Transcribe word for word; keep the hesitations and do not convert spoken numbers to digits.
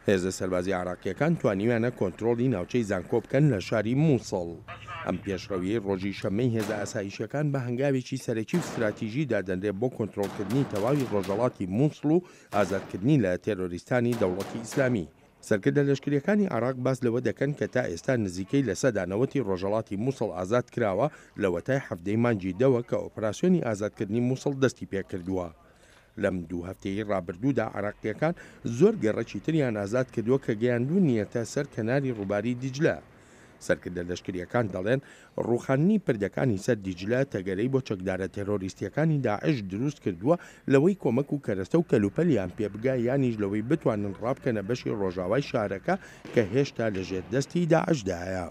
هێزە سەربازییە عێراقییەکان توانیویانە کۆنترۆڵی ناوچەی زانکۆ بکەن لە شاری موسڵ. ئەم پێشڕەویەی ڕۆژی شەممەی هێزە ئاسایشیەکان بە هەنگاوێکی سەرەکی و ستراتیژی دادەنرێت بۆ کۆنترۆڵکردنی تەواوی ڕۆژهەڵاتی موسڵ و ئازادکردنی لە تێرۆریستانی دەوڵەتی ئیسلامی. سەرکردە لەشکرییەکانی عێراق باس لەوە دەکەن کە تا ئێستا نزیکەی لە سەدا نەوەتی ڕۆژهەڵاتی موسڵ ئازاد کراوە لەوەتای حەڤدەی مانگی دەوە کە ئۆپراسیۆنی ئازادکردنی موسڵ دەستی پێکردووە. لەم دوو هەفتەیەی ڕابردوودا عێراقییەکان زۆر گەڕەکی تریان ئازاد کردووە کە گەیاندوونیەتە سەر کەناری ڕووباری دیجلە. سەرکردە لەشکرییەکان دەڵێن ڕووخاندنی پردەکانی سەر دیجلە تەگەرەی بۆ چەکدارە تێرۆریستییەکانی داعش دروست کردووە لەوەی کۆمەک و کەرەستە و کەلوپەلیان پێ بگا یانیش لەوەی بتوانن ڕابکەنە بەشی ڕۆژاوای شارەکە کە هێشتا لەژێر دەستی داعشدایە.